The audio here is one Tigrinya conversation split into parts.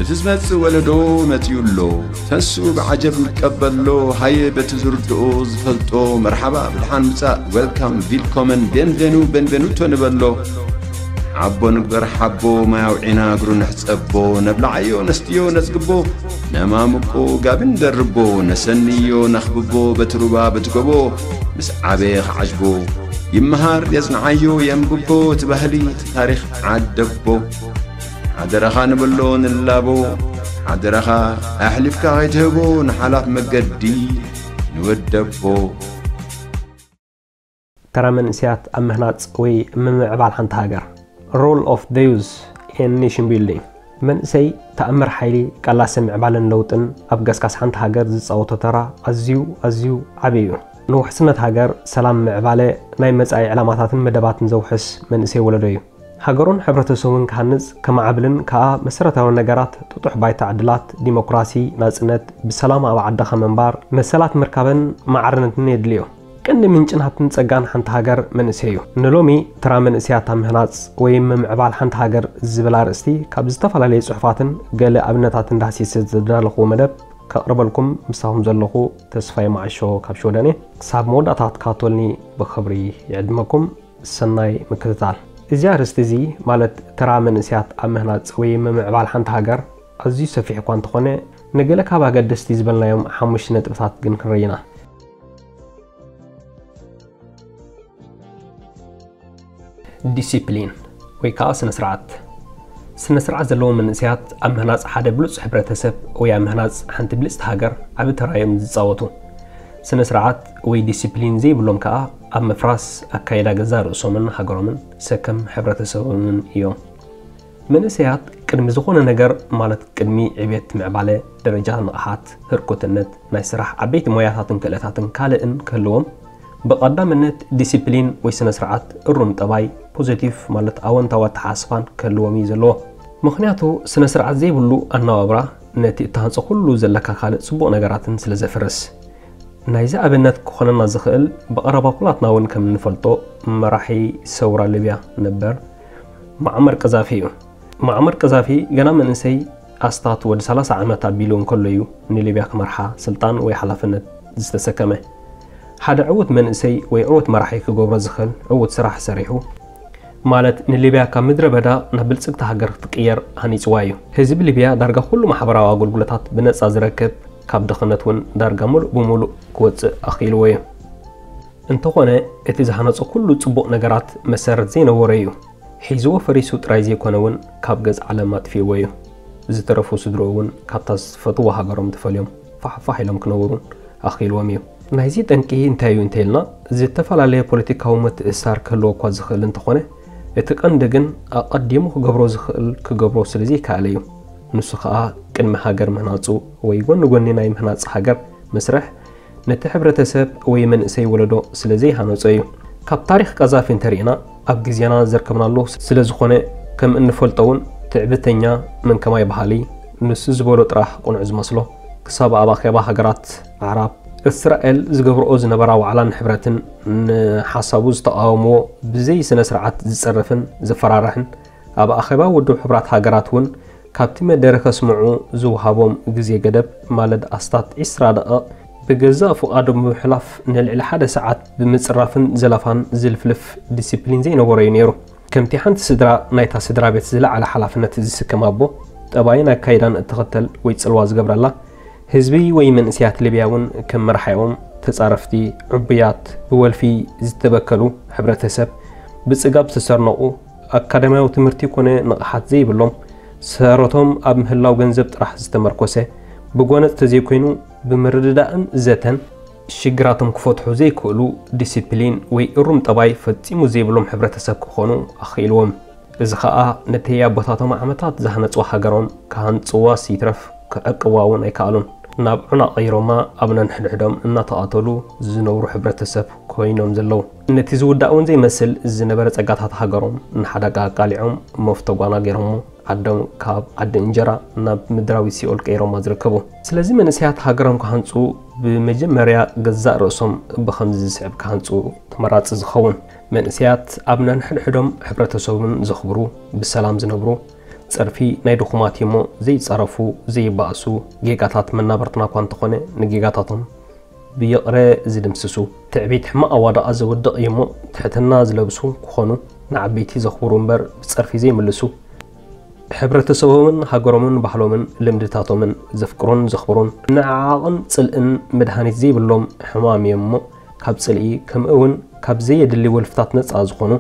እቲ ዝመጽእ ወለዶ መጺኡ ኣሎ። ተንስኡ ብዓጀብ ንቀበሎ። ሃየ በቲ ዝርድኦ ዝፈልጦ መርሓባ ብድሓን ምጻእ፣ ዌልካም፣ ቪልኮመን፣ ቤንቬኑ፣ ቤንቬኑቶ ንበሎ። ሓቦ ንግበር ሓቦ፣ ማይ ኣውዒና እግሩ ንሕጸቦ። ነብልዓዮ ነስትዮ ነጽግቦ፣ ነማምቆ ጋቢ ንደርቦ። ነሰንዮ ነኽብቦ በቲ ሩባ በቲ ጎቦ። ምስ ዓበየ ክዓጅቦ ይመሃር የጽንዓዮ የንብቦ። እቲ ባህሊ እቲ ታሪኽ ዓደቦ። ሓደራኻ ንብሎ ንላቦ። ሓደራኻ ኣሕሊፍካ ከይትህቦ ንሓላፍ መገዲ ንወደቦ። ተራ መንእሰያት ኣብ ምህናጽ ወይ ምምዕባል ሓንቲ ሃገር። Role of the youth in nation building። መንእሰይ ተኣምር ሓይሊ ቃላሲ ምዕባለን ለውጥን ኣብ ገስጋስ ሓንቲ ሃገር ዝጻወቶ ተራ ኣዝዩ ኣዝዩ ዓቢ እዩ። ንውሕስነት ሃገር፣ ሰላም፣ ምዕባለ ናይ መጻኢ ዕላማታትን መደባትን ዘውሕስ መንእሰይ ወለዶ እዩ። ሃገሩን ሕብረተሰቡን ክሃንጽ፣ ከማዕብልን ከኣ መሰረታዊ ነገራት ጥጡሕ ባይታ ዕድላት፣ ዲሞክራሲ፣ ናጽነት፣ ብሰላም ኣብ ዓድኻ ምንባር፣ መሰላት ምርካብን ማዕርነትን የድልዮ። ቀንዲ ምንጭን ሃብትን ጸጋን ሓንቲ ሃገር መንእሰይ እዩ። ንሎሚ ተራ መንእሰያት ኣብ ምህናጽ ወይ ምምዕባል ሓንቲ ሃገር ዝብል ኣርእስቲ ካብ ዝተፈላለዩ ጽሑፋትን ገለ ኣብነታትን ዳህሲሰ ዘዳለኹዎ መደብ ከቕርበልኩም ምሳኹም ዘለኹ ተስፋይ መዓሾ ካብ ሽወደን እየ። ክሳብ መወዳእታ ክትከታተሉኒ ብኽብሪ ይዕድመኩም። ሰናይ ምክትታል። እዚ ኣርእስቲ እዚ ማለት ተራ መንእሰያት ኣብ ምህናጽ ወይ ምምዕባል ሓንቲ ሃገር ኣዝዩ ሰፊሕ እኳ እንተኾነ ንገለ ካብ ኣገደስቲ ዝበልናዮም ሓሙሽተ ነጥብታት ግን ክንርኢ ኢና። ዲሲፕሊን ወይ ከዓ ስነ ስርዓት። ስነ ስርዓት ዘለዎም መንእሰያት ኣብ ምህናፅ ሓደ ብሉፅ ሕብረተሰብ ወይ ኣብ ምህናፅ ሓንቲ ብልፅቲ ሃገር ዓቢ ተራ እዮም ዝፃወቱ። ስነ ስርዓት ወይ ዲሲፕሊን ዘይብሎም ከዓ ኣብ ምፍራስ ኣካይዳ ገዛእ ርእሶምን ሃገሮምን ሰከም ሕብረተሰቦምን እዮም። መንእሰያት ቅድሚ ዝኾነ ነገር ማለት ቅድሚ ዕቤት ምዕባለ ደረጃ ንቕሓት፣ ህርኩትነት፣ ናይ ስራሕ ዓበይቲ ሞያታትን ክእለታትን ካልእን ክህልዎም ብቐዳምነት ዲሲፕሊን ወይ ስነ ስርዓት እሩም ጠባይ ፖዘቲቭ ማለት ኣወንታዊ ኣተሓሳስባን ክህልዎም እዩ ዘለዎ። ምኽንያቱ ስነ ስርዓት ዘይብሉ ኣነባብራ ነቲ እትሃንጾ ኩሉ ዘለካ ካልእ ጽቡቕ ነገራትን ስለ ዘፍርስ። ናይዚ ኣብነት ክኾነና ዝኽእል ብቐረባ ኩላትና እውን ከም እንፈልጦ መራሒ ሰውራ ሊብያ ነበር ሙዓመር ቀዛፊ እዩ። ሙዓመር ቀዛፊ ገና መንእሰይ ኣስታት ወዲ ሰላሳ ዓመት ኣቢሉ እንከሎ እዩ ንሊብያ ክመርሓ ስልጣን ወይ ሓላፍነት ዝተሰከመ። ሓደ ዕዉት መንእሰይ ወይ ዕዉት መራሒ ክገብሮ ዝኽእል ዕዉት ስራሕ ሰሪሑ ማለት ንሊብያ ካብ ምድረ በዳ ናብ ብልጽግቲ ሃገር ክትቅየር ሃኒጽዋ እዩ። ህዝቢ ሊብያ ዳርጋ ኩሉ ማሕበራዊ ኣገልግሎታት ብነጻ ዝረክብ፣ ካብ ድኽነት እውን ዳርጋ ሙሉእ ብሙሉእ ክወጽእ ኣኽኢልዎ እዩ። እንተኾነ እቲ ዝሃነጾ ኩሉ ጽቡቕ ነገራት መሰረት ዘይነበሮ እዩ። ሒዝዎ ፈሪሱ ጥራይ ዘይኮነ እውን ካብ ገጽ ዓለም ኣጥፊእዎ እዩ። ዝተረፉ ስድርኡ እውን ካብታ ዝፈትዎ ሃገሮም ተፈልዮም ፋሕፋሕ ኢሎም ክነብሩ ኣኽኢልዎም እዩ። ናይዚ ጠንቂ እንታይ እዩ እንተኢልና፣ ዝተፈላለየ ፖለቲካዊ ምትእስሳር ክህልዎ እኳ ዝኽእል እንተኾነ፣ እቲ ቀንዲ ግን ኣቐዲሙ ክገብሮ ዝኽእል ክገብሮ ስለ ዘይከኣለ እዩ። ንሱ ኸኣ ቅድሚ ሃገር ምህናጹ ወይ ጎኒ ጎኒ ናይ ምህናጽ ሃገር ምስርሕ ነቲ ሕብረተሰብ ወይ መንእሰይ ወለዶ ስለ ዘይሃነጾ እዩ። ካብ ታሪኽ ቀዛፊ እንተሪእና ኣብ ግዜና ዘርከብናሉ ስለ ዝኾነ ከም እንፈልጦ እውን ትዕብተኛ መንከማይ በሃሊ ንሱ ዝበሎ ጥራሕ ቅኑዕ ዝመስሎ ክሳብ ኣብ ኣኼባ ሃገራት ኣዕራብ እስራኤል ዝገብርኦ ዝነበራ ዋዕላን ሕብረትን ንሓሳቡ ዝተቓወምዎ ብዘይ ስነ ስርዓት ዝጸርፍን ዘፈራርሕን ኣብ ኣኼባ ውድብ ሕቡራት ሃገራት እውን ካብቲ መደረ ከስምዑ ዝወሃቦም ግዜ ገደብ ማለት ኣስታት ዒስራ ደቐቕ ብገዛእ ፍቓዶም ብምሕላፍ ንልዕሊ ሓደ ሰዓት ብምጽራፍን ዘለፋን ዝልፍልፍ ዲሲፕሊን ዘይነበሮ እዩ ነይሩ። ከምቲ ሓንቲ ስድራ ናይታ ስድራ ቤት ዝለዓለ ሓላፍነት ዝስከም ኣቦ ጠባይን ኣካይዳን እትኽተል ወይ ጽልዋ ዝገብረላ ህዝቢ ወይ መንእሰያት ሊብያ እውን ከም መርሓኦም ተጻረፍቲ ዕቡያት ብወልፊ ዝተበከሉ ሕብረተሰብ ብጽጋብ ዝተሰርነቑ ኣካዳሚያዊ ትምህርቲ ኮነ ንቕሓት ዘይብሎም ሰረቶም ኣብ ምህላው ገንዘብ ጥራሕ ዝተመርኮሰ ብጎነጽ ተዘይኮይኑ ብምርድዳእን ዘተን ሽግራቶም ክፈትሑ ዘይክእሉ ዲሲፕሊን ወይ እሩም ጠባይ ፈጺሙ ዘይብሎም ሕብረተሰብ ክኾኑ ኣኽኢልዎም። እዚ ኸኣ ነቲ ኣቦታቶም ዓመታት ዝሃነጽዋ ሃገሮም ክሃንጽዋስ ይትረፍ ክዕቅብዋ እውን ኣይከኣሉን። ናብ ዑና ቀይሮማ ኣብ ነንሕድሕዶም እናተቓተሉ ዝነብሩ ሕብረተሰብ ኮይኖም ዘለዉ። ነቲ ዝውዳእ እውን ዘይመስል ዝነበረ ጸጋታት ሃገሮም ንሓደጋ ኣቃሊዖም መፍቶ ጓና ገይሮሞ ዓዶም ካብ ዓዲ እንጀራ ናብ ምድራዊ ሲኦል ቀይሮማ ዝርከቡ። ስለዚ መንእሰያት ሃገሮም ክሃንጹ ብመጀመርያ ገዛእ ርእሶም ብኸምዚ ዝስዕብ ክሃንጹ ተመራጺ ዝኸውን። መንእሰያት ኣብ ነንሕድሕዶም ሕብረተሰቡን ዘኽብሩ፣ ብሰላም ዝነብሩ፣ ጸርፊ ናይ ድኹማት እዩ እሞ ዘይጻረፉ፣ ዘይባእሱ፣ ጌጋታት መናብርትና እኳ እንተኾነ ንጌጋታቶም ብይቕረ ዝድምስሱ። ትዕቢት ሕማቕ ኣዋድቓ ዘውድቕ እዩ እሞ ትሕትና ዝለብሱ ክኾኑ፣ ንዓበይቲ ዘኽብሩ እምበር ብጸርፊ ዘይምልሱ። ሕብረተሰቦምን ሃገሮምን ባህሎምን ልምድታቶምን ዘፍቅሩን ዘኽብሩን፣ ንዓዓቕን ጽልእን መድሃኒት ዘይብሎም ሕማም እዮም እሞ ካብ ጽልኢ ከምኡ እውን ካብ ዘየድሊ ወልፍታት ነጻ ዝኾኑ፣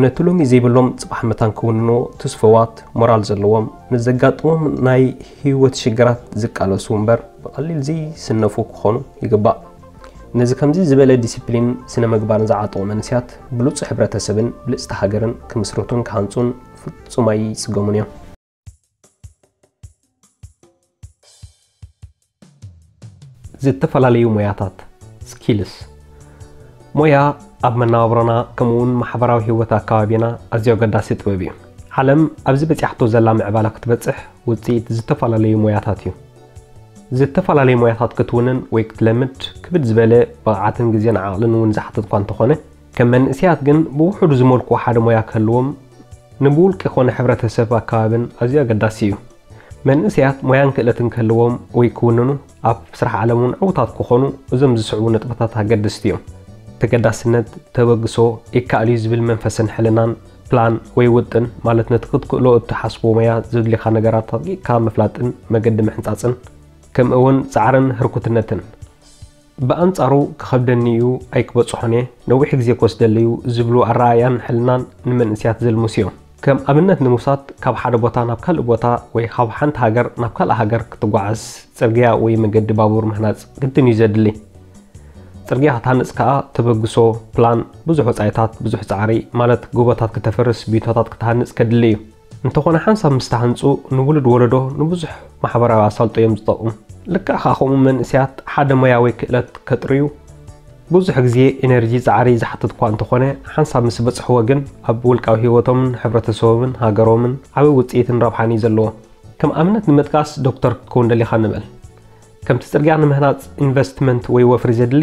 ነቲ ሎሚ ዘይብሎም ጽባሕ መታን ክውንኑ ትስፉዋት ሞራል ዘለዎም፣ ንዘጋጥሞም ናይ ህይወት ሽግራት ዝቃለሱ እምበር ብቐሊል ዘይስነፉ ክኾኑ ይግባእ። ነዚ ከምዚ ዝበለ ዲሲፕሊን ስነ ምግባርን ዝዓጠቑ መንእሰያት ብሉጽ ሕብረተሰብን ብልጽቲ ሃገርን ክምስርቱን ክሃንጹን ፍጹም ኣይጽገሙን እዮም። ዝተፈላለዩ ሞያታት፣ ስኪልስ። ሞያ ኣብ መነባብሮና ከምኡውን ማሕበራዊ ህይወት ኣከባቢና ኣዝዩ ኣገዳሲ ጥበብ እዩ። ዓለም ኣብዚ በጺሓቶ ዘላ ምዕባለ ክትበጽሕ ውጽኢት ዝተፈላለዩ ሞያታት እዩ። ዝተፈላለዩ ሞያታት ክትውንን ወይ ክትለምድ ክብድ ዝበለ ብቕዓትን ግዜን ዓቕልን እውን ዝሓትት እኳ እንተኾነ፣ ከም መንእሰያት ግን ብውሑዱ ዝመልክዎ ሓደ ሞያ ክህልዎም ንብውልቂ ኮነ ሕብረተሰብ ኣከባብን ኣዝዩ ኣገዳሲ እዩ። መንእሰያት ሞያን ክእለትን ክህልዎም ወይ ክውንኑ ኣብ ስራሕ ዓለም እውን ዕዉታት ክኾኑ እዞም ዝስዕቡ ነጥብታት ኣገደስቲ እዮም። ተገዳስነት፣ ተበግሶ፣ ይከኣል እዩ ዝብል መንፈስን ሕልናን፣ ፕላን ወይ ውጥን ማለት ነቲ ክትክእሎ እትሓስቦ ሞያ ዘድልኻ ነገራት ኣጥቂቕካ ምፍላጥን መገዲ ምሕንጻጽን፣ ከምኡ እውን ጻዕርን ህርኩትነትን። ብኣንጻሩ ክኸብደኒ እዩ ኣይክበጽሖን እየ፣ ነዊሕ ግዜ ክወስደለይ እዩ ዝብሉ ኣረኣእያን ሕልናን ንመንእሰያት ዘልምሱ እዮም። ከም ኣብነት ንምውሳድ ካብ ሓደ ቦታ ናብ ካልእ ቦታ ወይ ካብ ሓንቲ ሃገር ናብ ካልእ ሃገር ክትጓዓዝ ጽርግያ ወይ መገዲ ባቡር ምህናጽ ግድን እዩ ዘድሊ። ጽርግያ ክትሃንጽ ከኣ ተበግሶ፣ ፕላን፣ ብዙሕ ወጻኢታት፣ ብዙሕ ጻዕሪ ማለት ጎቦታት ክተፍርስ፣ ብዩቶታት ክትሃንጽ ከድሊ እዩ። እንተኾነ ሓንሳብ ምስ ተሃንጹ ንውሉድ ወለዶ ንብዙሕ ማሕበራዊ ኣሳልጦ እዮም ዝጠቕሙ። ልክዕ ከኣ ከምኡ መንእሰያት ሓደ ሞያ ወይ ክእለት ከጥርዩ ብዙሕ ግዜ ኤነርጂ ጻዕሪ ዝሓትት እኳ እንተኾነ ሓንሳብ ምስ በጽሕዎ ግን ኣብ ውልቃዊ ህይወቶምን ሕብረተሰቦምን ሃገሮምን ዓቢ ውጽኢትን ረብሓን እዩ ዘለዎ። ከም ኣብነት ንምጥቃስ ዶክተር ክትከውን ደሊኻ ንበል። ከምቲ ጽርግያ ንምህናጽ ኢንቨስትመንት ወይ ወፍሪ ዘድሊ፣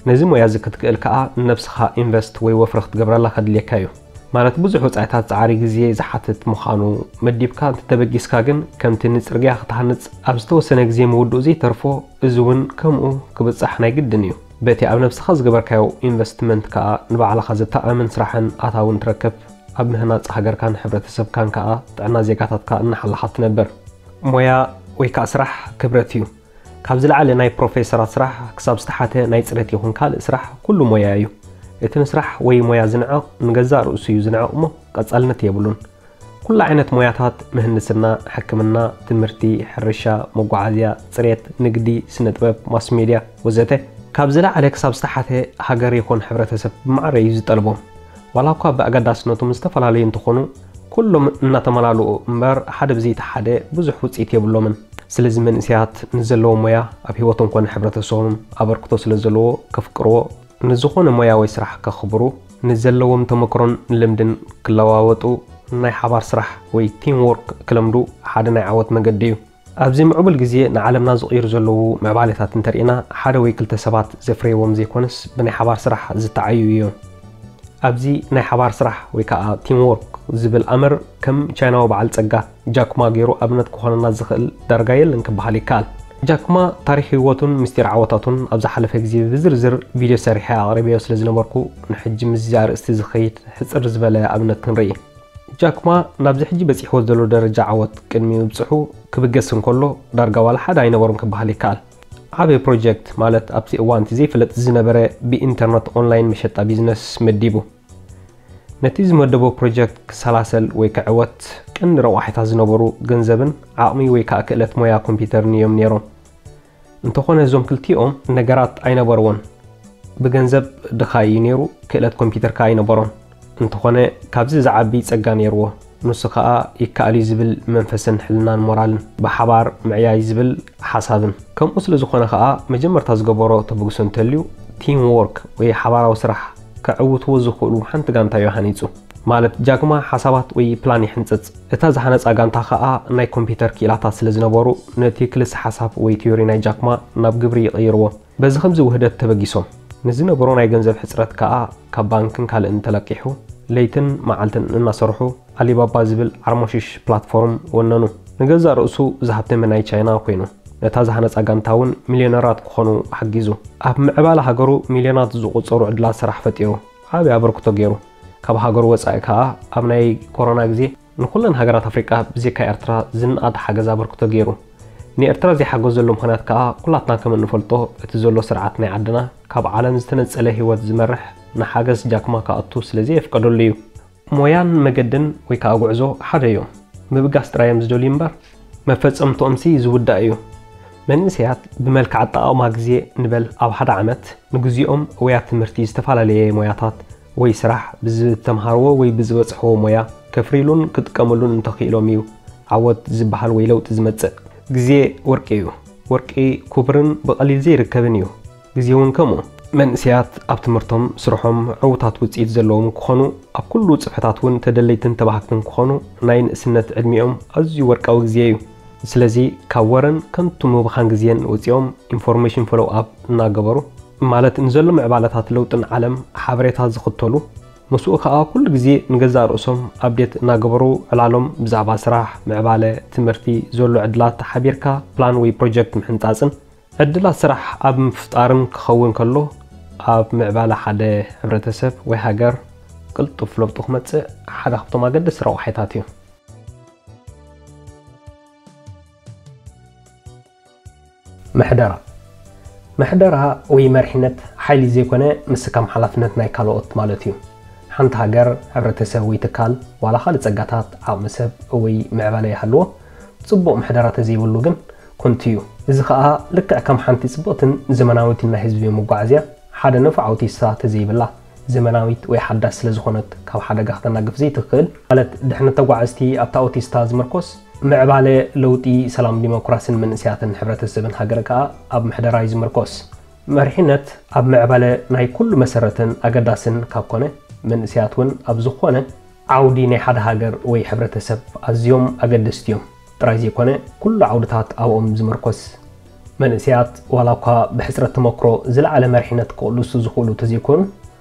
ነዚ ሞያ እዚ ክትክእል ከኣ ንነብስኻ ኢንቨስት ወይ ወፍሪ ክትገብረላ ከድልየካ እዩ። ማለት ብዙሕ ወጻኢታት ጻዕሪ ግዜ ዝሓትት ምዃኑ መዲብካ እንተተበጊስካ ግን ከምቲ ንጽርግያ ክትሃንጽ ኣብ ዝተወሰነ ግዜ ምውድኡ ዘይተርፎ እዚ እውን ከምኡ ክብጻሕ ናይ ግድን እዩ። በቲ ኣብ ነብስኻ ዝገበርካዮ ኢንቨስትመንት ከኣ ንባዕልኻ ዘተኣማምን ስራሕን ኣታውን ትረክብ። ኣብ ምህናጽ ሃገርካን ሕብረተሰብካን ከኣ ጥዕና ዜጋታትካ እናሓለኻ ትነብር። ሞያ ወይ ከኣ ስራሕ ክብረት እዩ። ካብ ዝለዓለ ናይ ፕሮፌሰራት ስራሕ ክሳብ ዝተሓተ ናይ ጽሬት ይኹን ካልእ ስራሕ ኩሉ ሞያ እዩ። እቲ ንስራሕ ወይ ሞያ ዝንዕቕ ንገዛእ ርእሱ እዩ ዝንዕቕ እሞ ቀጻልነት የብሉን። ኩሉ ዓይነት ሞያታት ምህንድስና፣ ሕክምና፣ ትምህርቲ፣ ሕርሻ፣ መጓዓዝያ፣ ጽሬት፣ ንግዲ፣ ስነ ጥበብ፣ ማስ ሜድያ ወዘተ ካብ ዝለዓለ ክሳብ ዝተሓተ ሃገር ይኹን ሕብረተሰብ ብማዕረ እዩ ዝጠልቦም። ዋላ እኳ ብኣገዳስነቶም ዝተፈላለዩ እንተኾኑ ኩሎም እናተመላልኡ እምበር ሓደ ብዘይቲ ሓደ ብዙሕ ውፅኢት የብሎምን። ስለዚ መንእሰያት ንዘለዎም ሞያ ኣብ ህይወቶም ኮነ ሕብረተሰቦም ኣበርክቶ ስለ ዘለዎ ከፍቅርዎ፣ ንዝኾነ ሞያ ወይ ስራሕ ከኽብሩ፣ ንዘለዎም ተመክሮን ልምድን ክለዋወጡ፣ ናይ ሓባር ስራሕ ወይ ቲም ወርክ ክለምዱ ሓደ ናይ ዓወት መገዲ እዩ። ኣብዚ ምዕቡል ግዜ ንዓለምና ዝቕይሩ ዘለዉ ምዕባሌታት እንተርኢና ሓደ ወይ ክልተ ሰባት ዘፍረይዎም ዘይኮነስ ብናይ ሓባር ስራሕ ዝተዓዩ እዮም። ኣብዚ ናይ ሓባር ስራሕ ወይ ከዓ ቲም ወርክ ዝብል ኣምር ከም ቻይናዊ በዓል ጸጋ ጃክማ ገይሩ ኣብነት ክኾነና ዝኽእል ዳርጋ የለን ክበሃል ይከኣል። ጃክማ ታሪኽ ህይወቱን ምስጢር ዓወታቱን ኣብ ዝሓለፈ ግዜ ብዝርዝር ቪድዮ ሰሪሐ ኣቕሪበዮ ስለ ዝነበርኩ ንሕጂ ምስዚ ኣርእስቲ ዝኸይድ ሕጽር ዝበለ ኣብነት ክንርኢ። ጃክማ ናብዚ ሕጂ በጺሕዎ ዘሎ ደረጃ ዓወት ቅድሚ ምብጽሑ ክብገስ እንከሎ ዳርጋ ዋላ ሓደ ኣይነበሮን ክበሃል ይከኣል። ዓቢ ፕሮጀክት ማለት ኣብቲ እዋን እቲ ዘይፍለጥ ዝነበረ ብኢንተርነት ኦንላይን መሸጣ ቢዝነስ መዲቡ። ነቲ ዝመደቦ ፕሮጀክት ክሰላሰል ወይ ክዕወት ቀንዲ ረቋሒታት ዝነበሩ ገንዘብን ዓቕሚ ወይ ከዓ ክእለት ሞያ ኮምፒውተርን እዮም ነይሮም። እንተኾነ እዞም ክልቲኦም ነገራት ኣይነበርዎን። ብገንዘብ ድኻ እዩ ነይሩ፣ ክእለት ኮምፒውተር ከዓ ኣይነበሮን። እንተኾነ ካብዚ ዝዓቢ ጸጋ ነይርዎ። ንሱ ከዓ ይከኣል እዩ ዝብል መንፈስን ሕልናን ሞራልን፣ ብሓባር ምዕያይ ዝብል ሓሳብን። ከምኡ ስለ ዝኾነ ከዓ መጀመርታ ዝገበሮ ተበግሶ እንተልዩ ቲም ወርክ ወይ ሓባራዊ ስራሕ ከዕውትዎ ዝኽእሉ ሓንቲ ጋንታ እዩ ሃኒጹ። ማለት ጃክማ ሓሳባት ወይ ፕላን ይሕንጽጽ። እታ ዝሃነጻ ጋንታ ከዓ ናይ ኮምፒውተር ክኢላታት ስለ ዝነበሩ ነቲ ክልሰ ሓሳብ ወይ ቲዮሪ ናይ ጃክማ ናብ ግብሪ ይቕይርዎ። በዚ ከምዚ ውህደት ተበጊሶም። ንዝነበሮ ናይ ገንዘብ ሕጽረት ከኣ ካብ ባንክን ካልእን ተለቂሑ ለይትን መዓልትን እናሰርሑ ኣሊባባ ዝብል ዓርሞሽሽ ፕላትፎርም ወነኑ። ንገዛእ ርእሱ ዝሃብተመ ናይ ቻይና ኮይኑ፣ ነታ ዝሃነጻ ጋንታ እውን ሚልዮነራት ክኾኑ ሓጊዙ። ኣብ ምዕባለ ሃገሩ ሚልዮናት ዝቑጸሩ ዕድላት ስራሕ ፈጢሩ፣ ዓቢ ኣበርክቶ ገይሩ። ካብ ሃገሩ ወጻኢ ከኣ ኣብ ናይ ኮሮና ግዜ ንኹለን ሃገራት ኣፍሪቃ ብዘይካ ኤርትራ ዝነኣድ ሓገዝ ኣበርክቶ ገይሩ። ንኤርትራ ዘይሓገዘሉ ምኽንያት ከኣ ኩላትና ከም እንፈልጦ እቲ ዘሎ ስርዓት ናይ ዓድና ካብ ዓለም ዝተነጸለ ህይወት ዝመርሕ ንሓገዝ ጃክማ ክኣቱ ስለ ዘየፍቀደሉ እዩ። ሞያን መገድን ወይ ከኣ ጉዕዞ ሓደ እዮም። ምብጋስ ጥራይ እዮም ዝደልዩ እምበር መፈጸምትኦምሲ ዝውዳእ እዩ። መንእሰያት ብመልክዕ ኣጠቓቕማ ግዜ ንበል ኣብ ሓደ ዓመት ንግዚኦም ወይ ኣብ ትምህርቲ ዝተፈላለየ ሞያታት ወይ ስራሕ ብዝተምሃርዎ ወይ ብዝበጽሕዎ ሞያ ከፍርይሉን ክጥቀምሉን እንተኽኢሎም እዩ ዓወት ዝበሃል ወይ ለውጢ ዝመጽእ። ግዜ ወርቂ እዩ። ወርቂ ክቡርን ብቐሊል ዘይርከብን እዩ። ግዜ እውን ከምኡ። መንእሰያት ኣብ ትምህርቶም፣ ስርሖም ዕዉታት ውጽኢት ዘለዎም ክኾኑ፣ ኣብ ኩሉ ጽፍሕታት እውን ተደለይትን ተባህግትን ክኾኑ ናይ ንእስነት ዕድሚኦም ኣዝዩ ወርቃዊ ግዜ እዩ። ስለዚ ካብ ወረን ከንቱ ምብኻን ግዜን ወጺኦም ኢንፎርሜሽን ፎሎው ኣፕ እናገበሩ፣ ማለት ንዘሎ ምዕባለታት ለውጥን ዓለም ሓበሬታ ዝኽተሉ፣ ምስኡ ከኣ ኩሉ ግዜ ንገዛእ ርእሶም ኣፕዴት እናገበሩ ዕላሎም ብዛዕባ ስራሕ፣ ምዕባለ፣ ትምህርቲ፣ ዘሎ ዕድላት ሓቢርካ ፕላን ወይ ፕሮጀክት ምሕንጻጽን ዕድላት ስራሕ ኣብ ምፍጣርን ክኸውን ከሎ፣ ኣብ ምዕባለ ሓደ ሕብረተሰብ ወይ ሃገር ቅልጡፍ ለውጢ ክመጽእ ሓደ ካብቶም ኣገደስቲ ረቋሒታት እዩ። ምሕደራ። ምሕደራ ወይ መሪሕነት ሓይሊ ዘይኮነ፣ ምስካም ሓላፍነት ናይ ካልኦት ማለት እዩ። ሓንቲ ሃገር፣ ሕብረተሰብ ወይ ትካል፣ ዋላ ካልእ ጸጋታት፣ ዓቕሚ ሰብ ወይ ምዕባለ ይሃልዎ፣ ጽቡቕ ምሕደራ ተዘይብሉ ግን ከንቱ እዩ። እዚ ኸኣ ልክዕ ከም ሓንቲ ጽብቕትን ዘመናዊትን ናይ ህዝቢ መጓዓዝያ፣ ሓደ ነፋ ኣውቲስታ ተዘይብላ፣ ዘመናዊት ወይ ሓዳስ ስለ ዝኾነት፣ ካብ ሓደጋ ክተናግፍ ዘይትኽእል፣ ማለት ድሕነት ተጓዓዝቲ ኣብታ ኣውቲስታ ዝምርኮስ፣ ምዕባለ፣ ለውጢ፣ ሰላም፣ ዲሞክራስን መንእሰያትን ሕብረተሰብን ሃገር ከኣ ኣብ ምሕደራ እዩ ዝምርኮስ። መሪሕነት ኣብ ምዕባለ ናይ ኩሉ መሰረትን ኣገዳስን ካብ ኮነ፣ መንእሰያት እውን ኣብ ዝኾነ ዓውዲ ናይ ሓደ ሃገር ወይ ሕብረተሰብ ኣዝዮም ኣገደስቲ እዮም። ጥራይ ዘይኮነ፣ ኩሉ ዓውድታት ኣብኦም ዝምርኮስ። መንእሰያት ዋላ እኳ ብሕጽረት ተመክሮ ዝለዓለ መሪሕነት ክቕልሱ ዝኽእሉ ተዘይኮኑ፣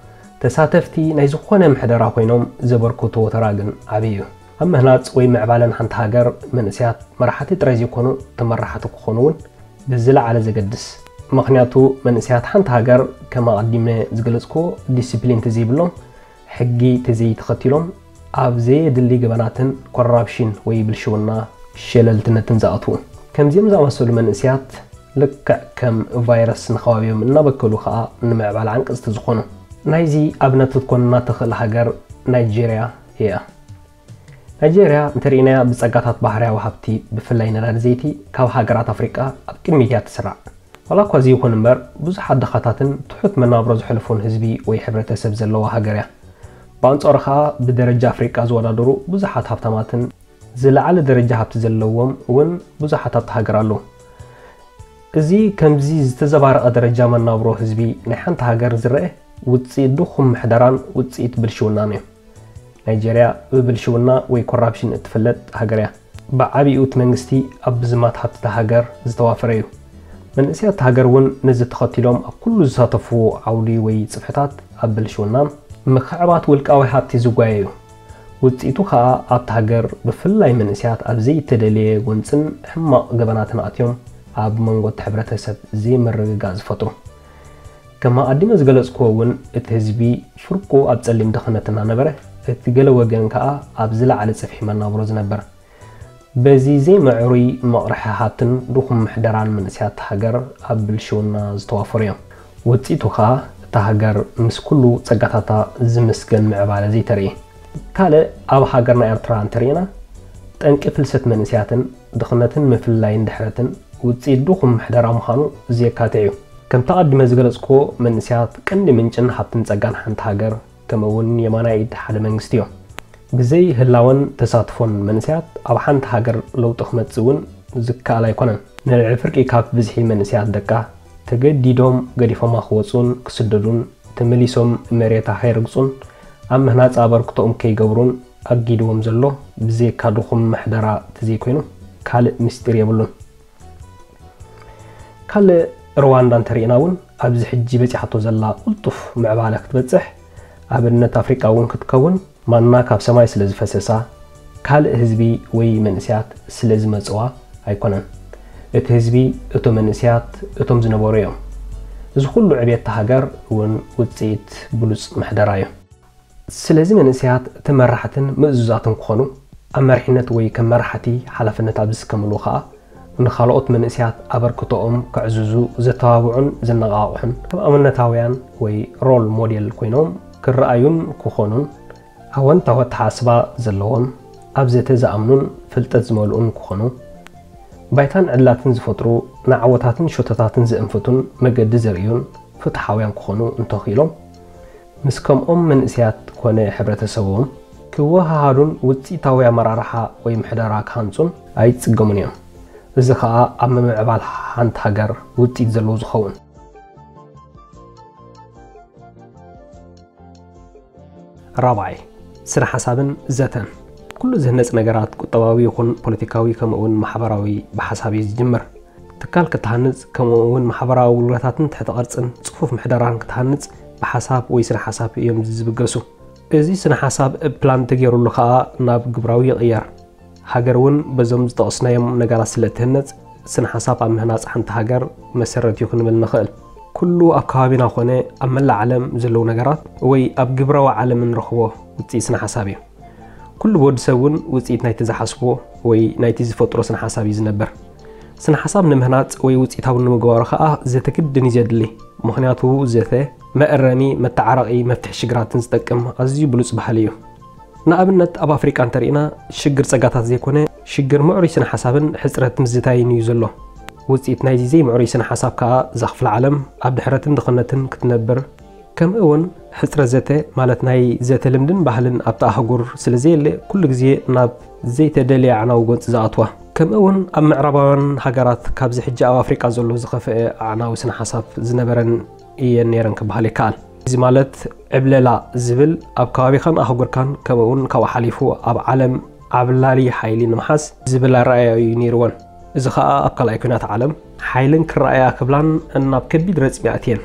ተሳተፍቲ ናይ ዝኾነ ምሕደራ ኮይኖም ዘበርክትዎ ተራ ግን ዓቢ እዩ። ኣብ ምህናጽ ወይ ምዕባለን ሓንቲ ሃገር መንእሰያት መራሕቲ ጥራይ ዘይኮኑ፣ ተመራሕቲ ክኾኑ እውን ብዝለዓለ ዘገድስ። ምኽንያቱ መንእሰያት ሓንቲ ሃገር ከም ኣቐዲመ ዝገለጽክዎ ዲሲፕሊን ተዘይብሎም፣ ሕጊ ተዘይተኸቲሎም፣ ኣብ ዘየድሊ ገበናትን ኮራፕሽን ወይ ብልሽውና ሸለልትነትን ዝኣትዉ። ከምዚኦም ዝኣመሰሉ መንእሰያት ልክዕ ከም ቫይረስ ንኸባቢኦም እናበከሉ ኸኣ ንምዕባለ ዓንቀጽቲ ዝኾኑ። ናይዚ ኣብነት ክትኮንና ትኽእል ሃገር ናይጄርያ እያ። ናይጄርያ እንተርኢናያ ብጸጋታት ባህርያዊ ሃብቲ ብፍላይ ነዳዲ ዘይቲ ካብ ሃገራት ኣፍሪቃ ኣብ ቅድሚት እያ ትስራዕ። ዋላ እኳ እዚ ይኹን እምበር ብዙሓት ድኻታትን ትሑት መናብሮ ዘሕልፉን ህዝቢ ወይ ሕብረተሰብ ዘለዋ ሃገር እያ። ብኣንጻሩ ኸኣ ብደረጃ ኣፍሪቃ ዝወዳደሩ ብዙሓት ሃብታማትን ዝለዓለ ደረጃ ሃብቲ ዘለዎም እውን ብዙሓት ኣብታ ሃገር ኣለዉ። እዚ ከምዚ ዝተዘባረቐ ደረጃ መናብሮ ህዝቢ ናይ ሓንቲ ሃገር ዝረአ ውጽኢት ድኹም ምሕደራን ውጽኢት ብልሽውናን እዩ። ናይጄርያ ብብልሽውና ወይ ኮራፕሽን እትፍለጥ ሃገር እያ። ብዓቢኡ እቲ መንግስቲ ኣብ ምዝማት ሃብቲ እታ ሃገር ዝተዋፈረ እዩ። መንእሰያት እታ ሃገር እውን ነዚ ተኸቲሎም ኣብ ኩሉ ዝሳተፍዎ ዓውዲ ወይ ጽፍሕታት ኣብ ብልሽውናን ምኽዕባት ውልቃዊ ሃብቲ ዝጓየዩ። ውጽኢቱ ኸኣ ኣብታ ሃገር ብፍላይ መንእሰያት ኣብ ዘይተደልየ ጎንጽን ሕማቕ ገበናትን ኣትዮም ኣብ መንጎ እቲ ሕብረተሰብ ዘይምርግጋእ ዝፈጥሩ። ከም ኣቐዲመ ዝገለጽክዎ እውን እቲ ህዝቢ ፍርቁ ኣብ ጸሊም ድኽነት እናነበረ፣ እቲ ገለ ወገን ከኣ ኣብ ዝለዓለ ጽፍሒ መናብሮ ዝነብር። በዚ ዘይምዕሩይ መቕርሒ ሃብትን ድኹም ምሕደራን መንእሰያት ሃገር ኣብ ብልሽውና ዝተዋፈሩ እዮም። ውጽኢቱ ከኣ እታ ሃገር ምስ ኩሉ ጸጋታታ ዝምስገን ምዕባለ ዘይተርኢ። ካልእ ኣብ ሃገርና ኤርትራ እንተርኢና፣ ጠንቂ ፍልሰት መንእሰያትን ድኽነትን ምፍልላይን ድሕረትን ውጽኢት ድኹም ምሕደራ ምዃኑ ዘየካትዕ እዩ። ከምቲ ኣቐዲመ ዝገለጽክዎ መንእሰያት ቀንዲ ምንጭን ሃብትን ጸጋን ሓንቲ ሃገር ከምኡ እውን የማናይ ኢድ ሓደ መንግስቲ እዮም። ብዘይ ህላወን ተሳትፎን መንእሰያት ኣብ ሓንቲ ሃገር ለውጢ ክመጽእ እውን ዝከኣል ኣይኮነን። ንልዕሊ ፍርቂ ካብ ብዝሒ መንእሰያት ደቃ ተገዲዶም ገዲፎማ ክወጹን ክስደዱን ተመሊሶም መሬታ ከይረግጹን ኣብ ምህናጽ ኣበርክቶኦም ከይገብሩን ኣጊድዎም ዘሎ ብዘይካ ድኹም ምሕደራ ተዘይኮይኑ ካልእ ምስጢር የብሉን። ካልእ ሩዋንዳ እንተርኢና እውን ኣብዚ ሕጂ በጺሓቶ ዘላ ቅልጡፍ ምዕባለ ክትበጽሕ ኣብነት ኣፍሪቃ እውን ክትከውን ማና ካብ ሰማይ ስለ ዝፈሰሳ ካልእ ህዝቢ ወይ መንእስያት ስለ ዝመጽዋ ኣይኮነን። እቲ ህዝቢ፣ እቶም መንእስያት፣ እቶም ዝነበሩ እዮም። እዚ ኩሉ ዕብየት ሃገር እውን ውጽኢት ብሉጽ ምሕደራ እዩ። ስለዚ መንእስያት ተመራሕትን ምእዙዛትን ክኾኑ፣ ኣብ መሪሕነት ወይ ከም መራሕቲ ሓላፍነት ኣብ ዝስከምሉ ኸኣ፣ ንኻልኦት መንእስያት ኣበርክቶኦም ከዕዝዙ ዘተባብዑን ዘነቓቕሑን፣ ከም ኣብነታውያን ወይ ሮል ሞዴል ኮይኖም ክረኣዩን ክኾኑን፣ ኣወንታዊ ኣተሓሳስባ ዘለዎም፣ ኣብ ዘተ ዝኣምኑን ፍልጠት ዝመልኡን ክኾኑ፣ ባይታን ዕድላትን ዝፈጥሩ፣ ንዓወታትን ሸቶታትን ዘእንፍቱን መገዲ ዘርእዩን ፍትሓውያን ክኾኑ እንተኽኢሎም፣ ምስ ከምኦም መንእስያት ኮነ ሕብረተሰቦም ክወሃሃዱን ውጽኢታዊ ኣመራርሓ ወይ ምሕደራ ክሃንጹን ኣይጽገሙን እዮም። እዚ ኸኣ ኣብ ምምዕባል ሓንቲ ሃገር ውጽኢት ዘለዎ ዝኸውን። ራብዓይ፣ ስነ ሓሳብን ዘተን። ኩሉ ዝህነጽ ነገራት፣ ቁጠባዊ ይኹን ፖለቲካዊ፣ ከምኡ እውን ማሕበራዊ፣ ብሓሳብ እዩ ዝጅምር። ትካል ክትሃንጽ፣ ከምኡ እውን ማሕበራዊ ኣገልግሎታትን ትሕተ ቅርጽን ጽፉፍ ምሕደራን ክትሃንጽ፣ ብሓሳብ ወይ ስነ ሓሳብ እዮም ዝብገሱ። እዚ ስነ ሓሳብ ፕላን ተገይሩሉ ኸኣ ናብ ግብራዊ ይቕየር። ሃገር እውን በዞም ዝጠቐስናዮም ነገራት ስለ እትህነጽ፣ ስነ ሓሳብ ኣብ ምህናጽ ሓንቲ ሃገር መሰረት እዩ ክንብል ንኽእል። ኩሉ ኣብ ከባቢና ኾነ ኣብ መላእ ዓለም ዘለዉ ነገራት ወይ ኣብ ግብራዊ ዓለም እንረኽቦ ውጽኢት ስነ ሓሳብ እዩ። ኩሉ ብወዲ ሰብ እውን ውጽኢት ናይቲ ዝሓስቦ ወይ ናይቲ ዝፈጥሮ ስነ ሓሳብ እዩ ዝነብር። ስነ ሓሳብ ንምህናጽ ወይ ውጽኢታዊ ንምግባሩ ኸኣ ዘተ ግድን እዩ ዘድሊ። ምኽንያቱ ዘተ መእረሚ፣ መተዓረቒ፣ መፍትሒ ሽግራትን ዝጠቅም ኣዝዩ ብሉጽ ባህሊ እዩ። ንኣብነት ኣብ ኣፍሪቃ እንተሪእና ሽግር ጸጋታት ዘይኮነ ሽግር ምዕሩይ ስነ ሓሳብን ሕጽረት ምዝታይን እዩ ዘሎ። ውጽኢት ናይዚ ዘይምዕሩይ ስነ ሓሳብ ከኣ እዛ ክፍለ ዓለም ኣብ ድሕረትን ድኽነትን ክትነብር፣ ከምኡ እውን ሕጽረት ዘተ ማለት ናይ ዘተ ልምድን ባህልን ኣብታ ኣህጉር ስለ ዘየለ ኩሉ ግዜ ናብ ዘይተደልየ ኣዕናዊ ጎንጺ ዝኣትዋ። ከምኡ እውን ኣብ ምዕራባውያን ሃገራት ካብዚ ሕጂ ኣብ ኣፍሪቃ ዘሎ ዝኸፍአ ኣዕናዊ ስነ ሓሳብ ዝነበረን እየን ነይረን ክበሃል ይከኣል። እዚ ማለት ዕብለላ ዝብል ኣብ ከባቢኻን ኣህጉርካን ከምኡ እውን ካብኡ ሓሊፉ ኣብ ዓለም ዓብላሊ ሓይሊ ንምሓዝ ዝብል ኣረኣእያ እዩ ነይርወን። እዚ ኸኣ ኣብ ካልኣይ ኲናት ዓለም ሓይልን ክረኣያ ክብላን ናብ ከቢድ ረጽሚ ኣእትየን።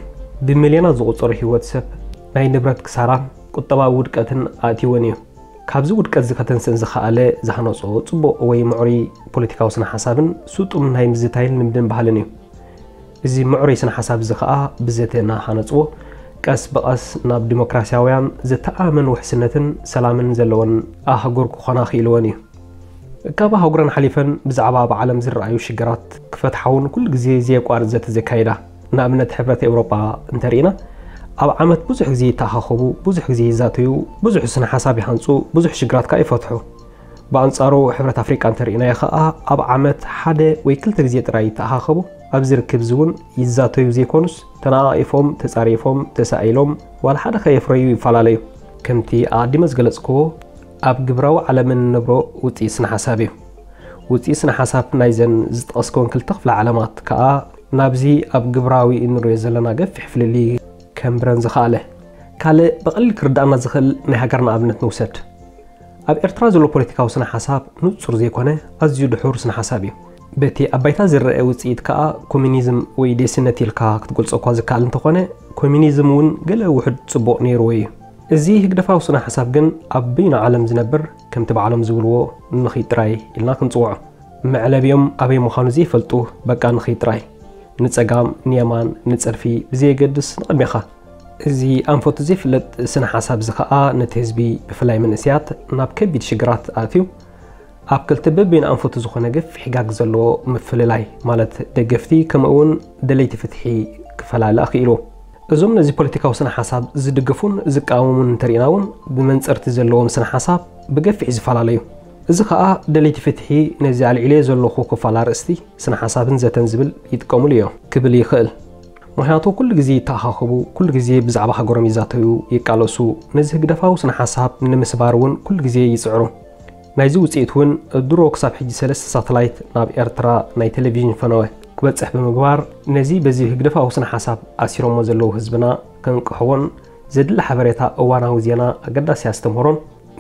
ብሚልዮናት ዝቑጸሩ ህይወት ሰብ፣ ናይ ንብረት ክሳራን ቁጠባዊ ውድቀትን ኣእትይወን እዩ። ካብዚ ውድቀት እዚ ከተንስእን ዝኸኣለ ዝሃነጾ ጽቡቕ ወይ ምዕሩይ ፖለቲካዊ ስነ ሓሳብን ስጡም ናይ ምዝታይን ልምድን ባህልን እዩ። እዚ ምዕሩይ ስነ ሓሳብ እዚ ኸኣ ብዘተ እናሃነጽዎ ቀስ ብቐስ ናብ ዲሞክራስያውያን ዝተኣማመን ውሕስነትን ሰላምን ዘለወን ኣህጉር ክኾና ክኢልወን እዩ። ካብ ኣህጉረን ሓሊፈን ብዛዕባ ኣብ ዓለም ዝረኣዩ ሽግራት ክፈትሓ እውን ኩሉ ግዜ ዘየቋርጽ ዘተ ዘካይዳ። ንኣብነት ሕብረት ኤውሮጳ እንተሪእና ኣብ ዓመት ብዙሕ ግዜ ይተኣኻኸቡ፣ ብዙሕ ግዜ ይዛተዩ፣ ብዙሕ ስነ ሓሳብ ይሃንጹ፣ ብዙሕ ሽግራት ከኣ ይፈትሑ። ብኣንጻሩ ሕብረት ኣፍሪቃ እንተሪእናዮ ከኣ ኣብ ዓመት ሓደ ወይ ክልተ ግዜ ጥራይ ይተኣኻኸቡ። ኣብዚ ርክብ እዚ እውን ይዛተዩ ዘይኮኑስ ተነቓቒፎም፣ ተጻሪፎም፣ ተሳኢሎም ዋላ ሓደ ከየፍረዩ ይፈላለዩ። ከምቲ ኣቐዲመ ዝገለጽክዎ ኣብ ግብራዊ ዓለም እንነብሮ ውጽኢት ስነ ሓሳብ እዩ። ውጽኢት ስነ ሓሳብ ናይዘን ዝጠቐስክወን ክልተ ክፍለ ዓለማት ከኣ ናብዚ ኣብ ግብራዊ እንሪኦ ዘለና ገፊሕ ፍልልይ ከንብረን ዝኸኣለ። ካልእ ብቐሊል ክርድኣና ዝኽእል ናይ ሃገርና ኣብነት ንውሰድ። ኣብ ኤርትራ ዘሎ ፖለቲካዊ ስነ ሓሳብ ንጹር ዘይኮነ ኣዝዩ ድሑር ስነ ሓሳብ እዩ። በቲ ኣብ ባይታ ዝረአ ውጽኢት ከኣ ኮሚኒዝም ወይ ዴስነት ኢልካ ክትገልጾ እኳ ዝከኣል እንተኾነ ኮሚኒዝም እውን ገለ ውሑድ ጽቡቕ ነይርዎ እዩ። እዚ ህግደፋዊ ስነ ሓሳብ ግን ኣብ በይኑ ዓለም ዝነብር ከምቲ ባዕሎም ዝብልዎ ንኺድ ጥራይ ኢልና ክንጽውዖ። መዕለቢኦም ኣበይ ምዃኑ ዘይፈልጡ በቃ ንኺድ ጥራይ። ንጸጋም፣ ንየማን፣ ንጸድፊ ብዘየገድስ ንቕድሜኻ። እዚ ኣንፈቱ ዘይፍለጥ ስነ ሓሳብ እዚ ኸኣ ነቲ ህዝቢ ብፍላይ መንእስያት ናብ ከቢድ ሽግራት ኣእትዩ ኣብ ክልተ በበይኑ ኣንፈቱ ዝኾነ ገፊሕ ጋግ ዘለዎ ምፍልላይ ማለት ደገፍቲ ከምኡ እውን ደለይቲ ፍትሒ ክፈላሊ ኣኽኢሉ። እዞም ነዚ ፖለቲካዊ ስነ ሓሳብ ዝድግፉን ዝቃወሙን እንተሪእና እውን ብመንጽርቲ ዘለዎም ስነ ሓሳብ ብገፊሕ ዝፈላለዩ። እዚ ኸኣ ደለይቲ ፍትሒ ነዚ ኣልዒለዮ ዘለኹ ክፋል ኣርእስቲ ስነ ሓሳብን ዘተን ዝብል ይጥቀሙሉ እዮም ክብል ይኽእል። ምኽንያቱ ኩሉ ግዜ ይተኣኻኸቡ፣ ኩሉ ግዜ ብዛዕባ ሃገሮም ይዛተዩ፣ ይቃለሱ፣ ነዚ ህግደፋዊ ስነ ሓሳብ ንምስባር እውን ኩሉ ግዜ ይጽዕሩ። ናይዚ ውጽኢት እውን ድሮ ክሳብ ሕጂ ሰለስተ ሳተላይት ናብ ኤርትራ ናይ ቴሌቪዥን ፈነወ ክበጽሕ ብምግባር ነዚ በዚ ህግደፋዊ ስነ ሓሳብ ኣሲሮሞ ዘለዉ ህዝብና ከንቅሕዎን ዘድሊ ሓበሬታ እዋናዊ ዜና ኣገዳሲ ኣስተምህሮን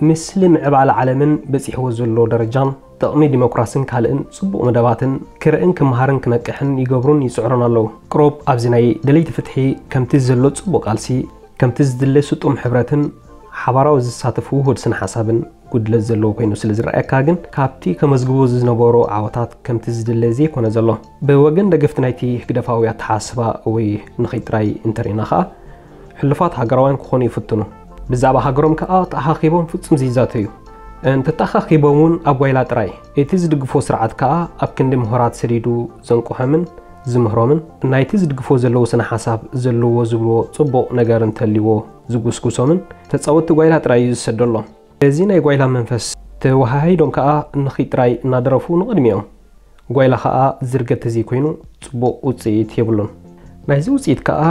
ምስሊ ምዕባለ ዓለምን በጺሕዎ ዘሎ ደረጃን ጥቕሚ ዲሞክራስን ካልእን ጽቡቕ መደባትን ክርእን ክመሃርን ክነቅሕን ይገብሩን ይጽዕሩን ኣለዉ። ቅሩብ ኣብዚ ናይ ደለይቲ ፍትሒ ከምቲ ዘሎ ጽቡቕ ቃልሲ ከምቲ ዝድለ ስጡም ሕብረትን ሓባራዊ ዝሳተፍ ውሁድ ስነ ሓሳብን ጉድለት ዘለዎ ኮይኑ ስለ ዝረኣየካ ግን፣ ካብቲ ከመዝግቦ ዝነበሮ ዓወታት ከምቲ ዝድለ ዘይኮነ ዘሎ። ብወገን ደገፍቲ ናይቲ ህግደፋዊ ኣተሓሳስባ ወይ ንኺድ ጥራይ እንተርኢና ኸኣ፣ ሕሉፋት ሃገራውያን ክኾኑ ይፍትኑ። ብዛዕባ ሃገሮም ከኣ ተኣኻኺቦም ፍጹም ዘይዛተዩ። እንተተኣኻኺቦም እውን ኣብ ጓይላ ጥራይ። እቲ ዝድግፎ ስርዓት ከኣ ኣብ ክንዲ ምሁራት ሰዲዱ ዘንቅሖምን ዝምህሮምን፣ ናይቲ ዝድግፎ ዘለዉ ስነ ሓሳብ ዘለዎ ዝብልዎ ጽቡቕ ነገር እንተልይዎ ዝጉስጉሶምን ተጻወትቲ ጓይላ ጥራይ እዩ ዝሰደሎም። በዚ ናይ ጓይላ መንፈስ ተወሃሂዶም ከኣ ንኺድ ጥራይ እናደረፉ ንቕድሚኦም። ጓይላ ከኣ ዝርገት ተዘይኮይኑ ጽቡቕ ውጽኢት የብሉን። ናይዚ ውጽኢት ከኣ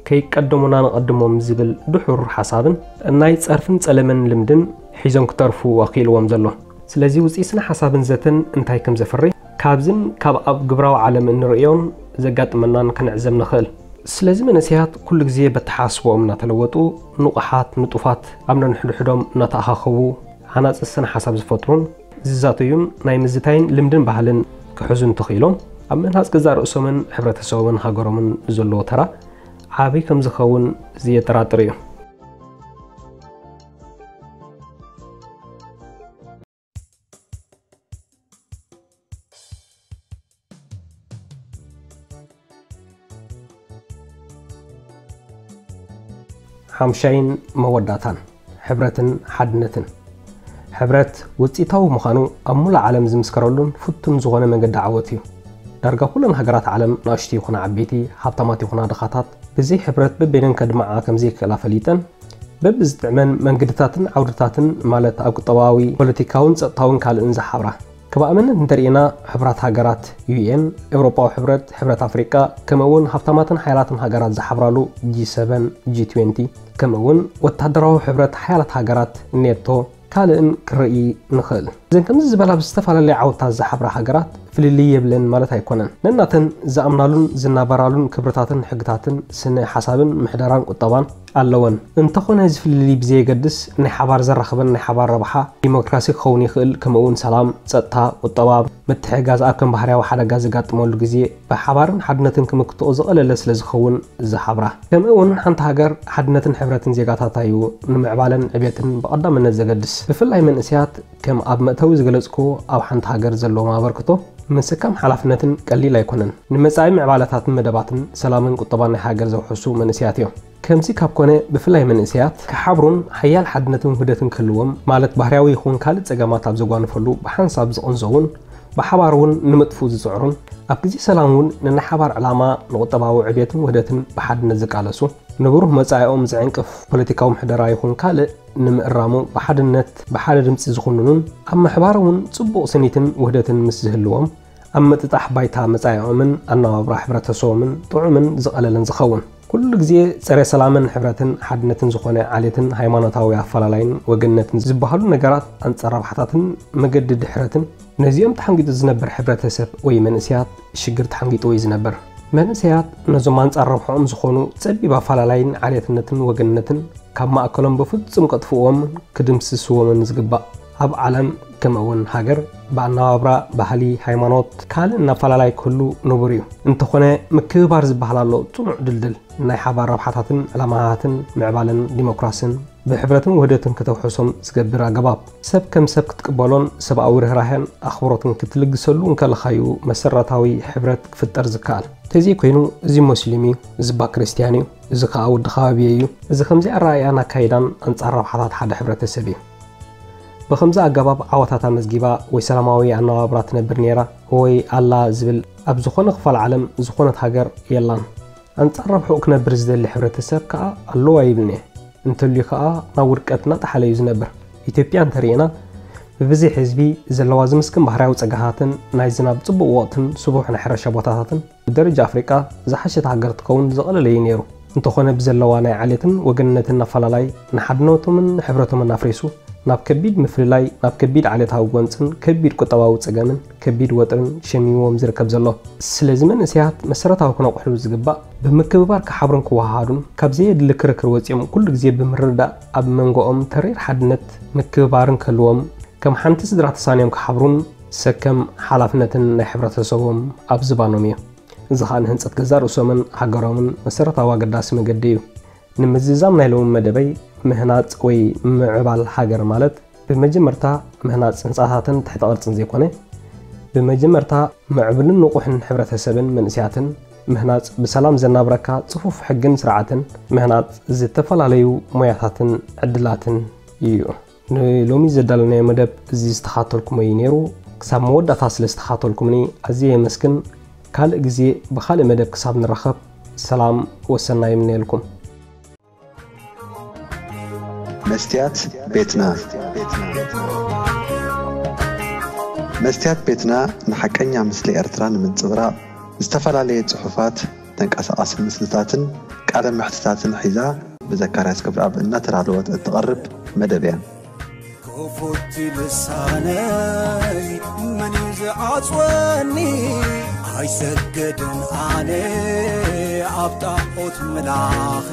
ከይቀደሙና ንቐድሞም ዝብል ድሑር ሓሳብን ናይ ጸርፍን ጸለመን ልምድን ሒዞም ክተርፉ ኣኽኢልዎም ዘሎ። ስለዚ ውጽኢት ስነ ሓሳብን ዘተን እንታይ ከም ዘፍሪ፣ ካብዝን ካብ ኣብ ግብራዊ ዓለም እንርእዮን ዘጋጥመናን ክንዕዘብ ንኽእል። ስለዚ መንእሰያት ኩሉ ግዜ በተሓስቦኦም እናተለወጡ፣ ንቑሓት፣ ንጡፋት፣ ኣብ ነንሕድሕዶም እናተኣኻኸቡ፣ ሃናጺ ስነ ሓሳብ ዝፈጥሩን ዝዛተዩን ናይ ምዝታይን ልምድን ባህልን ክሕዙ እንተኽኢሎም፣ ኣብ ምህናጽ ገዛእ ርእሶምን ሕብረተሰቦምን ሃገሮምን ዘለዎ ተራ ዓቢ ከም ዝኸውን ዘየጠራጥር እዩ። ሓምሻይን መወዳእታን፣ ሕብረትን ሓድነትን። ሕብረት ውጽኢታዊ ምዃኑ ኣብ ሙሉእ ዓለም ዝምስከረሉን ፍቱን ዝኾነ መገዲ ዓወት እዩ። ዳርጋ ኩለን ሃገራት ዓለም፣ ንኣሽቱ ይኹና ዓበይቲ፣ ሃብታማት ይኹና ድኻታት፣ ብዘይ ሕብረት በበይነን ከድምዓ ከም ዘይክእላ ፈሊጠን፣ በብዝጥዕመን መንገድታትን ዓውድታትን፣ ማለት ኣብ ቁጠባዊ፣ ፖለቲካውን ጸጥታውን ካልእን ዝሓብራ። ከም ኣብነት እንተርኢና፣ ሕቡራት ሃገራት፣ ዩ ኤን፣ ኤውሮጳዊ ሕብረት፣ ሕብረት ኣፍሪቃ፣ ከምኡ እውን ሃብታማትን ሓያላትን ሃገራት ዝሓብራሉ ጂ ሰቨን፣ ጂ ትዌንቲ፣ ከምኡ እውን ወታደራዊ ሕብረት ሓያላት ሃገራት፣ ኔቶ፣ ካልእን ክረኢ ንኽእል። እዘን ከምዚ ዝበላ ብዝተፈላለየ ዓወታት ዝሓብራ ሃገራት ፍልልይ የብለን ማለት ኣይኮነን። ነናተን ዝኣምናሉን ዝናበራሉን ክብርታትን ሕግታትን ስነ ሓሳብን ምሕደራን ቁጠባን ኣለወን። እንተኾነ እዚ ፍልልይ ብዘየገድስ ናይ ሓባር ዘራኽበን ናይ ሓባር ረብሓ ዲሞክራሲ ክኸውን ይኽእል፣ ከምኡ እውን ሰላም፣ ጸጥታ፣ ቁጠባ፣ ምትሕግጋዝ ኣብ ከም ባህርያዊ ሓደጋ ዘጋጥመሉ ግዜ ብሓባርን ሓድነትን ክምክትኦ ዝቐለለ ስለ ዝኸውን ዝሓብራ። ከምኡ እውን ሓንቲ ሃገር ሓድነትን ሕብረትን ዜጋታታ እዩ ንምዕባለን ዕቤትን ብቐዳምነት ዘገድስ። ብፍላይ መንእሰያት ከም ኣብ መእተዊ ዝገለጽክዎ ኣብ ሓንቲ ሃገር ዘለዎም ኣበርክቶ ምስካም ሓላፍነትን ቀሊል ኣይኮነን። ንመጻኢ ምዕባለታትን መደባትን ሰላምን ቁጠባን ናይ ሃገር ዘውሕሱ መንእሰያት እዮም። ከምዚ ካብ ኮነ ብፍላይ መንእሰያት ክሓብሩን ሓያል ሓድነትን ውህደትን ክህልዎም ማለት ባህርያዊ ይኹን ካልእ ጸገማት ኣብ ዘጓንፈሉ ብሓንሳብ ዝቕንዘውን ብሓባር እውን ንምጥፍኡ ዝጽዕሩን ኣብ ግዜ ሰላም እውን ንናይ ሓባር ዕላማ ንቁጠባዊ ዕቤትን ውህደትን ብሓድነት ዝቃለሱ ንብሩህ መጻኢኦም ዝዕንቅፍ ፖለቲካዊ ምሕደራ ይኹን ካልእ ንምእራሙ ብሓድነት ብሓደ ድምጺ ዝኹንኑን ኣብ ምሕባር እውን ጽቡቕ ስኒትን ውህደትን ምስ ዝህልዎም ኣብ ምጥጣሕ ባይታ መጻኢኦምን ኣነባብራ ሕብረተሰቦምን ጥዑምን ዝቐለለን ዝኸውን። ኩሉ ግዜ ጸረ ሰላምን ሕብረትን ሓድነትን ዝኾነ ዓሌትን ሃይማኖታዊ ኣፈላላይን ወገንነትን ዝበሃሉ ነገራት ኣንጻር ረብሓታትን መገዲ ድሕረትን ነዚኦም ተሓንጊጡ ዝነብር ሕብረተሰብ ወይ መንእሰያት ሽግር ተሓንጊጡ ወይ ዝነብር። መንእሰያት ነዞም ኣንጻር ረብሕኦም ዝኾኑ ጸቢብ ኣፈላላይን ዓሌትነትን ወገንነትን ካብ ማእከሎም ብፍጹም ከጥፍእዎምን ክድምስስዎምን ዝግባእ። ኣብ ዓለም ከምኡ እውን ሃገር ብኣነባብራ፣ ባህሊ፣ ሃይማኖት፣ ካልእን ኣፈላላይ ክህሉ ንቡር እዩ። እንተኾነ ምክብባር ዝበሃል ኣሎ ጽኑዕ ድልድል ናይ ሓባር ረብሓታትን ዕላማታትን ምዕባለን ዲሞክራስን ብሕብረትን ውህደትን ከተውሕሶም ዝገብር ኣገባብ። ሰብ ከም ሰብ ክትቅበሎን ሰብኣዊ ርህራሄን ኣኽብሮትን ክትልግሰሉ እንከለኻዩ መሰረታዊ ሕብረት ክፍጠር ዝከኣል። ተዘይኮይኑ እዚ ሞስሊም እዩ፣ እዚ ባ ክርስትያን እዩ፣ እዚ ከኣ ወዲ ከባቢ እዩ። እዚ ከምዚ ኣረኣእያን ኣካይዳን ኣንጻር ረብሓታት ሓደ ሕብረተሰብ እዩ። ብኸምዚ ኣገባብ ዓወታት ኣመዝጊባ ወይ ሰላማዊ ኣነባብራ ትነብር ነይራ ወይ ኣላ ዝብል ኣብ ዝኾነ ክፋል ዓለም ዝኾነት ሃገር የላን። ኣንጻር ረብሕኡ ክነብር ዝደሊ ሕብረተሰብ ከኣ ኣለዎ ኣይብልን እየ። እንተልዩ ከኣ ናብ ውድቀት እናጠሓለ እዩ ዝነብር። ኢትዮጵያ እንተርኢና ብብዝሒ ህዝቢ ዘለዋ ዝምስክን ባህርያዊ ጸጋታትን ናይ ዝናብ ጽቡቕ ወቕትን ስቡሕ ናይ ሕርሻ ቦታታትን ብደረጃ ኣፍሪቃ ዝሓሸት ሃገር ትኸውን ዝቐለለ እዩ ነይሩ። እንተኾነ ብዘለዋ ናይ ዓሌትን ወገንነትን ኣፈላላይ ንሓድነቶምን ሕብረቶምን ኣፍሪሱ ናብ ከቢድ ምፍልላይ፣ ናብ ከቢድ ዓሌታዊ ጎንጽን ከቢድ ቁጠባዊ ጸገምን ከቢድ ወጥርን ሸሚምዎም ዝርከብ ዘሎ። ስለዚ መንእሰያት መሰረታዊ ክነቕሕሉ ዝግባእ ብምክብባር ክሓብሩን ክወሃሃዱን ካብ ዘየድሊ ክርክር ወጺኦም ኩሉ ግዜ ብምርድዳእ ኣብ መንጎኦም ተሪር ሓድነት ምክብባርን ክህልዎም ከም ሓንቲ ስድራ ተሳንዮም ክሓብሩን ሰከም ሓላፍነትን ናይ ሕብረተሰቦም ኣብ ዝባኖም እዩ። እዚ ኸኣ ንህንጸት ገዛእ ርእሶምን ሃገሮምን መሰረታዊ ኣገዳሲ መገዲ እዩ። ንምዝዛም ናይ ሎሚ መደበይ ምህናጽ ወይ ምዕባል ሃገር ማለት ብመጀመርታ ምህናጽ ህንጻታትን ትሕተ ቅርጽን ዘይኮነ፣ ብመጀመርታ ምዕብልን ንቑሕን ሕብረተሰብን መንእሰያትን ምህናጽ ብሰላም ዘናብረካ ጽፉፍ ሕግን ስርዓትን ምህናጽ ዝተፈላለዩ ሞያታትን ዕድላትን እዩ። ንሎሚ ዘዳለናዮ መደብ እዚ ዝተኻተልኩሞ እዩ ነይሩ። ክሳብ መወዳእታ ስለ ዝተኻተልኩምኒ ኣዝየ የመስግን። ካልእ ግዜ ብኻልእ መደብ ክሳብ ንራኸብ ሰላም ወሰናይ ይምነየልኩም። መስትያት ቤትና። መስትያት ቤትና ንሓቀኛ ምስሊ ኤርትራ ንምንጽብራቕ ዝተፈላለየ ጽሑፋት፣ ተንቀሳቓሲ ምስልታትን ቃለ መሕትታትን ሒዛ ብዘካርያስ ገብረኣብ እናተዳለወት እትቐርብ መደብ እያ። ክፉት ልሳነይ መን እዩ ዝዓጽወኒ? ኣይሰግድን ኣነ ኣብ ጣዖት ምላኺ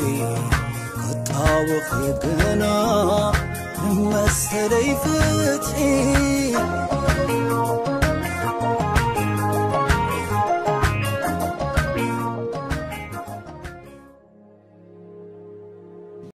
ክጣወኺ ግና መሰለይ ፍትሒ።